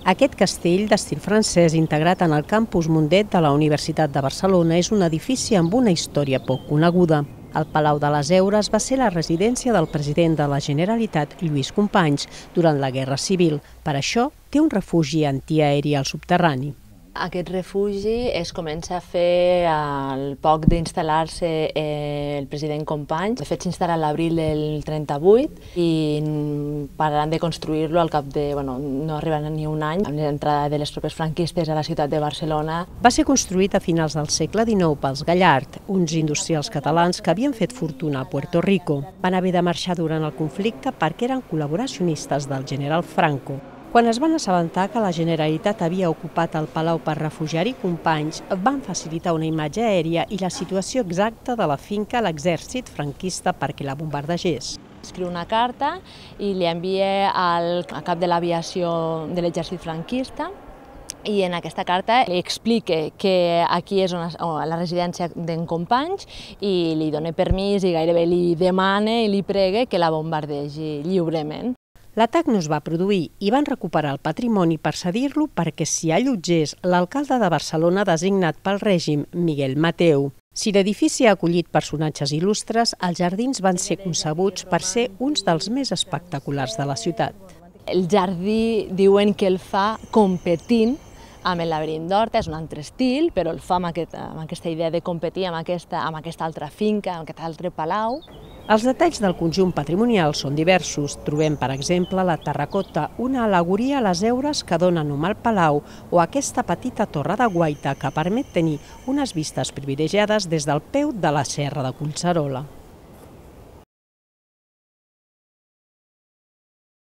Aquest castell, d'estil francès, integrat en el campus Mundet de la Universitat de Barcelona, és un edifici amb una història poc coneguda. El Palau de les Heures va ser la residència del president de la Generalitat, Lluís Companys, durant la Guerra Civil. Per això, té un refugi antiaeri al subterrani. Aquest refugi es comença a fer al poc d'instal·lar-se el president Companys. De fet, s'instal·la a l'abril del 38 i pararan de construir-lo al cap de, no arriba ni un any, amb l'entrada de les tropes franquistes a la ciutat de Barcelona. Va ser construït a finals del segle XIX pels Gallard, uns industrials catalans que havien fet fortuna a Puerto Rico. Van haver de marxar durant el conflicte perquè eren col·laboracionistes del general Franco. Quan es van assabentar que la Generalitat havia ocupat el palau per refugiar-hi Companys, van facilitar una imatge aèria i la situació exacta de la finca a l'exèrcit franquista perquè la bombardegés. Escriu una carta i li envia al cap de l'aviació de l'exèrcit franquista i en aquesta carta li explica que aquí és la residència d'en Companys i li dona permís i gairebé li demana i li prega que la bombardegi lliurement. L'atac no es va produir i van recuperar el patrimoni per cedir-lo perquè s'hi allotgés l'alcalde de Barcelona designat pel règim, Miguel Mateu. Si l'edifici ha acollit personatges il·lustres, els jardins van ser concebuts per ser uns dels més espectaculars de la ciutat. El jardí diuen que el fa competint amb el laberint d'Horta, és un altre estil, però el fa amb aquesta idea de competir amb aquesta altra finca, amb aquest altre palau. Els detalls del conjunt patrimonial són diversos. Trobem, per exemple, la terracota, una al·legoria a les heures que dona nom al palau, o aquesta petita torre de guaita que permet tenir unes vistes privilegiades des del peu de la Serra de Collserola.